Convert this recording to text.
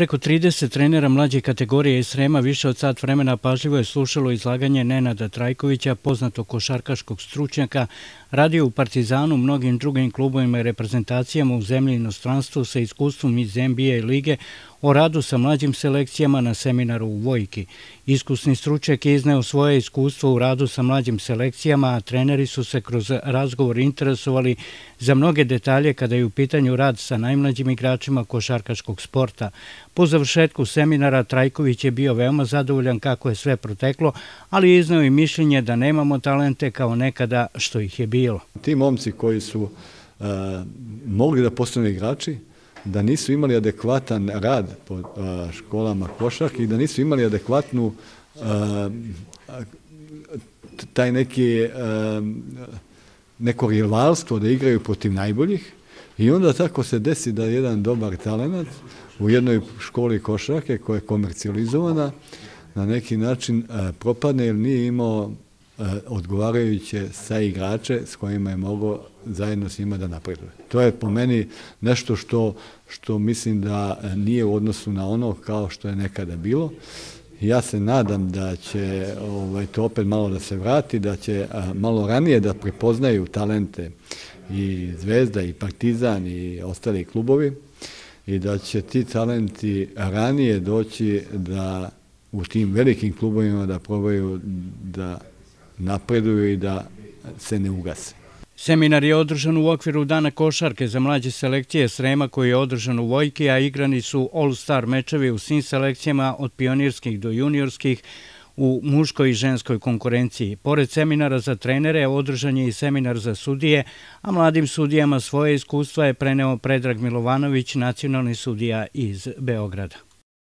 Preko 30 trenera mlađe kategorije iz Srema više od sat vremena pažljivo je slušalo izlaganje Nenada Trajkovića, poznatog košarkaškog stručnjaka, radio u Partizanu, mnogim drugim klubovima i reprezentacijama u zemlji i inostranstvu sa iskustvom iz NBA lige, o radu sa mlađim selekcijama na seminaru u Vojki. Iskusni stručnjak je izneo svoje iskustvo u radu sa mlađim selekcijama, a treneri su se kroz razgovor interesovali za mnoge detalje kada je u pitanju rad sa najmlađim igračima košarkaškog sporta. Po završetku seminara Trajković je bio veoma zadovoljan kako je sve proteklo, ali je izneo i mišljenje da nemamo talente kao nekada što ih je bilo. Ti momci koji su mogli da postanu igrači, da nisu imali adekvatan rad po školama košarke i da nisu imali adekvatnu taj neko rivalstvo da igraju protiv najboljih, i onda tako se desi da jedan dobar talent u jednoj školi košarke koja je komercijalizovana na neki način propadne jer nije imao odgovarajuće saigrače s kojima je mogao zajedno s njima da napreduje. To je po meni nešto što mislim da nije u odnosu na ono kao što je nekada bilo. Ja se nadam da će to opet malo da se vrati, da će malo ranije da prepoznaju talente i Zvezda i Partizan i ostali klubovi i da će ti talenti ranije doći da u tim velikim klubovima da probaju da napreduju i da se ne ugase. Seminar je održan u okviru Dana košarke za mlađe selekcije Srema koji je održan u Vojki, a igrani su All-Star mečevi u svim selekcijama od pionirskih do juniorskih u muškoj i ženskoj konkurenciji. Pored seminara za trenere, održan je i seminar za sudije, a mladim sudijama svoje iskustva je preneo Predrag Milovanović, nacionalni sudija iz Beograda.